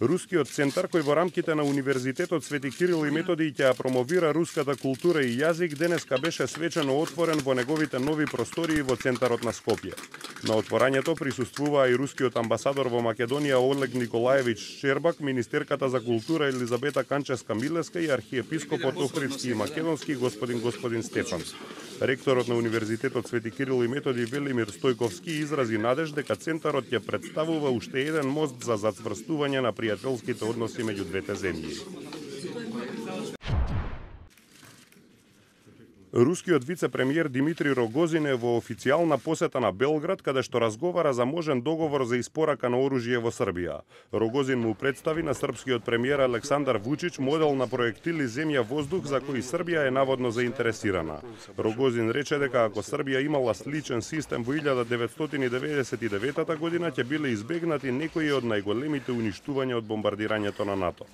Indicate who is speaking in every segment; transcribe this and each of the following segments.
Speaker 1: Рускиот центар, кој во рамките на Универзитетот Свети Кирил и Методи ќе ја промовира руската култура и јазик, денеска беше свечено отворен во неговите нови простории во центарот на Скопје. На отворањето присуствуваа и рускиот амбасадор во Македонија Олег Николаевич Щербак, министерката за култура Елизабета Канчевска-Милеска и архиепископот Охридски и Македонски господин Стефан. Ректорот на Универзитетот Свети Кирил и Методи Велимир Стојковски изрази надеж дека центарот ќе представува уште еден мост за зацврстување на пријателските односи меѓу двете земји. Рускиот вице-премиер Димитри Рогозин е во официјална посета на Белград, каде што разговара за можен договор за испорака на оружје во Србија. Рогозин му представи на српскиот премиер Александар Вучич модел на проектили земја-воздух за кој Србија е наводно заинтересирана. Рогозин рече дека ако Србија имала сличен систем во 1999 година, ќе биле избегнати некои од најголемите уништувања од бомбардирањето на НАТО.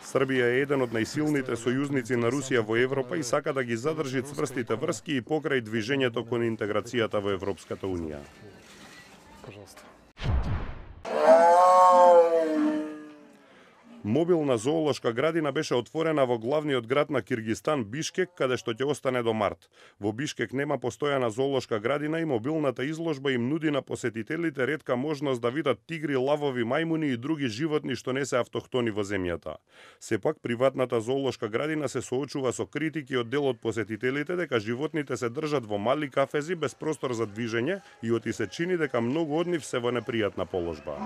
Speaker 1: Србија е еден од најсилните сојузници на Русија во Европа и сака да ги задржи цврстите врски и покрај движењето кон интеграцијата во Европската Унија. Мобилна зоолошка градина беше отворена во главниот град на Киргизстан Бишкек, каде што ќе остане до март. Во Бишкек нема постојана зоолошка градина и мобилната изложба им нуди на посетителите ретка можност да видат тигри, лавови, мајмуни и други животни што не се автохтони во земјата. Сепак приватната зоолошка градина се соочува со критики од дел од посетителите дека животните се држат во мали кафези без простор за движење и оти се чини дека многу од нив се во непријатна положба.